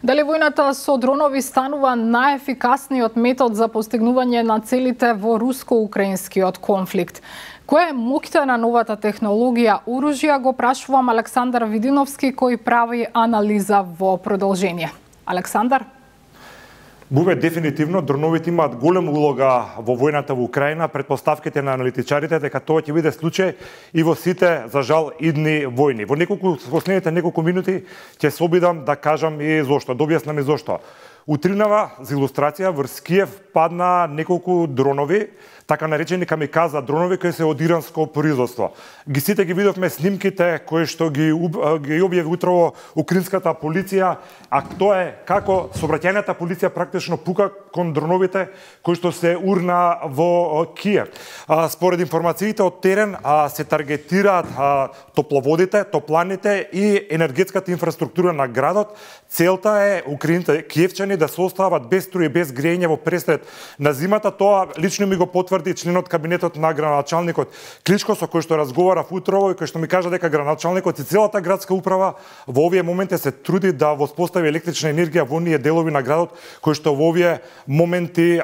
Дали војната со дронови станува најефикасниот метод за постигнување на целите во руско-украинскиот конфликт? Која е моќта на новата технологија оружја, го прашувам Александар Видиновски, кој прави анализа во продолжение. Александар? Бубе, дефинитивно, дроновите имаат голема улога во војната во Украина. Предпоставките на аналитичарите дека тоа ќе биде случај и во сите, за жал, идни војни. Во последните неколку минути ќе се обидам да кажам и зошто, да објаснам и зошто. Утринава, за илустрација, врз Киев падна неколку дронови, така наречени камиказа дронови кои се од иранско производство. Сите ги видовме снимките кои што ги објави утрово украинската полиција, а тоа е како сообраќајната полиција практично пука кон дроновите кои што се урна во Киев. Според информациите од терен се таргетираат топловодите, топланите и енергетската инфраструктура на градот. Целта е киевчани да се остават без струја и без грејење во пресред на зимата. Тоа лично ми го потврди членот кабинетот на градоначалникот Кличко, со кој што разговарав утрово и кој што ми кажа дека градоначалникот и целата градска управа во овие моменти се труди да воспостави електрична енергија во оние делови на градот кои што во овие моменти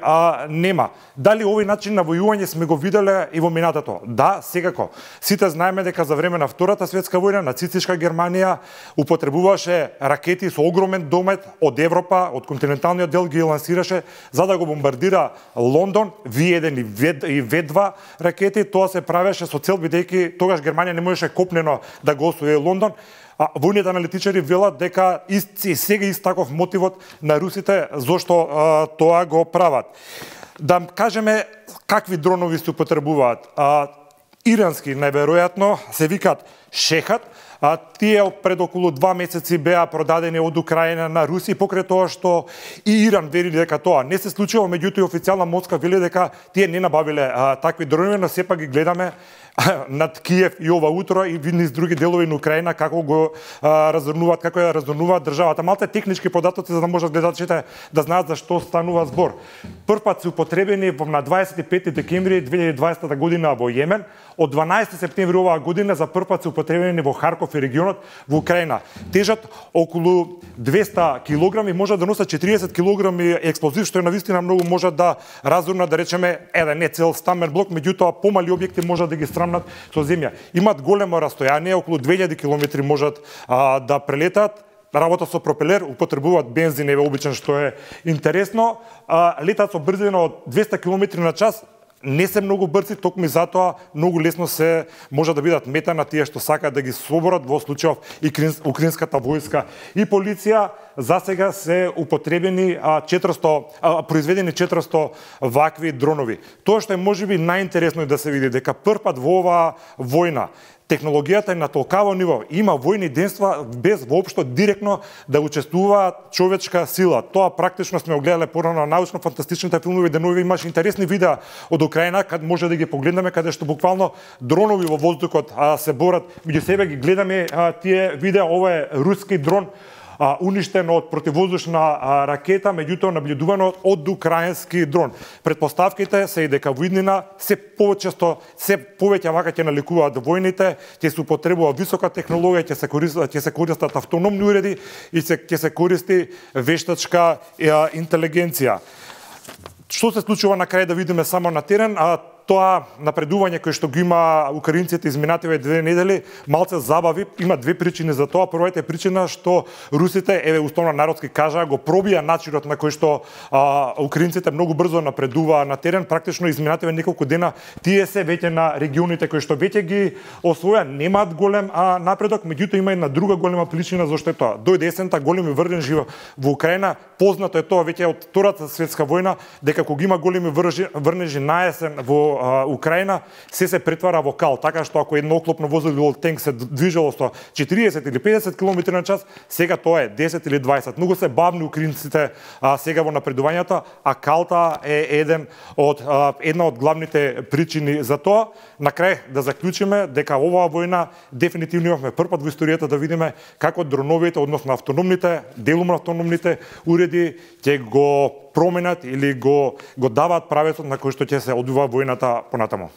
нема. Дали овој начин на војување сме го виделе и во минатото? Да, секако. Сите знаеме дека за време на Втората светска војна нацистичка Германија употребуваше ракети со огромен домет од Европа, од континенталниот дел ги лансираше за да го бомбардира Лондон, V1 и V2 ракети. Тоа се правеше со цел, бидејќи тогаш Германија не можеше копнено да го освои Лондон. Војните аналитичари велат дека и сега таков мотивот на русите зошто тоа го прават. Да кажеме какви дронови се употребуваат. Ирански најверојатно се викаат Шехат. Тие пред околу 2 месеци беа продадени од Украина на Русија покрај тоа што и Иран вели дека тоа не се случило, меѓутоа официјална Москва вели дека тие не набавиле такви дронови, но сепак ги гледаме над Киев и ова утро и низ други делови на Украина како го разорнуваат, како ја разорнуваат државата. Малце технички податоци за да можат гледачите да знаат за што станува збор. Првпат се употребени на 25 декември 2020 година во Јемен, од 12 септември оваа година за првпат се употребени во Харков и регионот во Украина. Тежат околу 200 килограми, може да носат 40 килограми експлозив, што е навистина многу може да разорнат, да речеме, еден не цел стамен блок, меѓутоа помали објекти може да ги страмнат со земја. Имат големо растојание, околу 2000 километри можат да прелетат. Работа со пропелер, употребуваат бензин, еве обичен, што е интересно. Летат со брзина од 200 км на час. Не се многу брзи, токму затоа многу лесно се може да бидат мета на тие што сакаат да ги соборат, во случајов и украинската војска и полиција. За сега се употребени произведени 400 вакви дронови. Тоа што е можеби најинтересно да се види дека првпат во оваа војна технологијата е на толкаво ниво. Има војни денства без воопшто директно да учествува човечка сила. Тоа практично сме огледале порано на научно-фантастичните филмови, денови имаш интересни видеа од Украина, каде може да ги погледнеме, каде што буквално дронови во воздухот се борат меѓу себе, ги гледаме тие видеа. Ова е руски дрон уништен од противвоздушна ракета, меѓутоа наблюдувано од украински дрон. Предпоставките се и дека во иднина се почесто, се повеќе вака ќе наликуваат војните, ќе се употребува висока технологија, ќе се користат автономни уреди и ќе се користи вештачка интелигенција. Што се случува на крај да видиме само на терен? Тоа напредување кој што го има украинците изминативе 2 недели малце забави. Има две причини за тоа. Првата е причина што русите, еве условно народски кажа, го пробија начинот на кој што украинците многу брзо напредуваа на терен. Практично изминативе неколку дена тие се веќе на регионите кои што веќе ги освоја, немаат голем напредок, меѓутоа има една друга голема причина зашто е тоа. Дојде есента, големи врнежи во Украина. Познато е тоа веќе од Втората светска војна дека кога има големи врнежи на есен во Украина, се претвара во кал, така што ако едно оклопно возило или тенк се движело со 40 или 50 км на час, сега тоа е 10 или 20. Многу се бавни украинците сега во напредувањето, а калта е една од главните причини за тоа. На крај да заклучиме дека оваа војна дефинитивно имавме првпат во историјата да видиме како дроновите, односно автономните, делумно автономните уреди ќе го променат или го даваат правецот на кој што ќе се одвива војната понатаму.